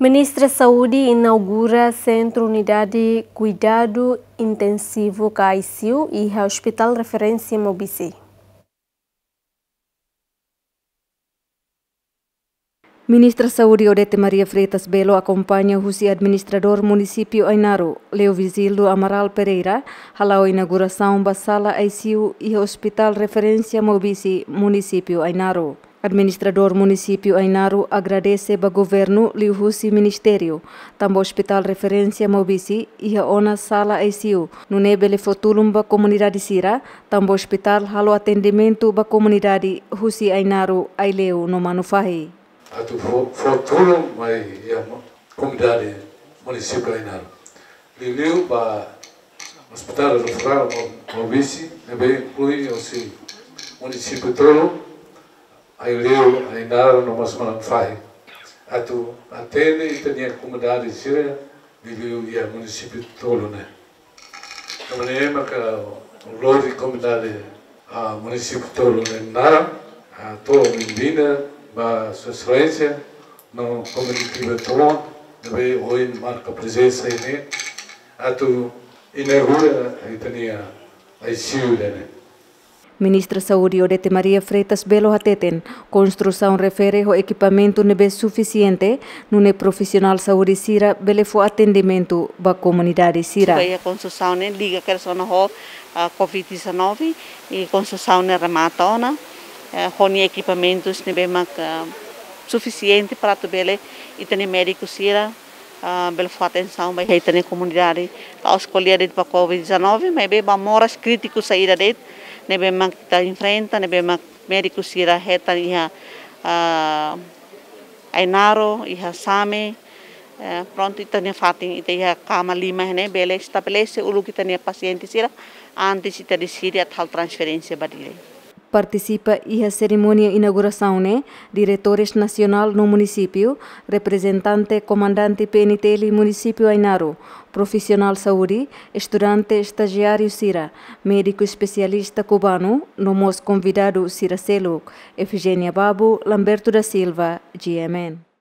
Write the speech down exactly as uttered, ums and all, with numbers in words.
Ministra Saúde inaugura Sentru Unidade Kuidadu Intensivu ka I C U iha Hospital Referénsia Maubisse. Ministra Saúde Odete Maria Freitas Belo akompaña husi Administradór Munisípiu Ainaro, Leovizildo Amaral Pereira, hala'o inaugurasaun ba sala I C U iha Hospital Referénsia Maubisse, Munisípiu Ainaro. Administradór Munisípiu Ainaro agradese ba governu liuhusi ministériu, tanba Hospital Referénsia Maubisse iha ona sala I C U, nune'e bele fó tulun ba komunidade sira, tanba hospital halo atendimentu ba komunidade husi Ainaro, Aileu no Manufahi. Atu fó, fó tulun mai iha mo-, komunidade munisípiu Ainaro. Liuliu ba Hospital Referral Mau-, Maubisse, ne'ebé inklui hosi munisípiu tolu, Aileu, Ainaro no mós Manufahi. Atu atende ita-nia komunidade sira, liuliu iha munisípiu tolu ne'e. Tanba ne'e maka ha'u lori komunidade, ah, munisípiu tolu ne'e naran, ah, hato'o benvinda ba Sua Exelénsia no komitiva tolu, ne'ebé ohin marka prezensa iha ne'e, atu inaugura ita-nia I C U ida-ne'e. Ministra Saúde Odete Maria Freitas Belo hateten, konstrusaun refere ho ekipamentu ne'ebé sufisiente, nune'e profisionál saúde sira bele fó atendimentu ba komunidade sira. Ba iha konstrusaun ne'e liga kedas ona ho, ah, covid dezanove, i konstrusaun ne'e remata ona, eh, ho nia ekipamentus ne'ebé mak, ah, sufisiente para atu bele ita-nia médiku sira, ah, bele fó atensaun ba iha ita-nia komunidade. La'ós ko'alia de'it ba covid dezanove, maibé ba moras krítiku saida de'it ne'ebé mak ita enfrenta, ne'ebé mak médiku sira hetan iha, ah, Ainaro, iha Same, eh, prontu ita-nia fatin, ita iha kama lima ne'e bele estabelese uluk ita-nia pasiente sira, antes ita deside atu halo transferénsia ba Dili. Partisipa iha serimónia inaugurasaun ne'e, diretores nasionál no munisípiu, reprezentante komandante P N T L munisípiu Ainaro, profisionál saúde, estudante estajiáriu sira, médiku espesialista kubanu, no mós konvidadu sira seluk. Efigénia Babu, Lamberto da Silva, G M N.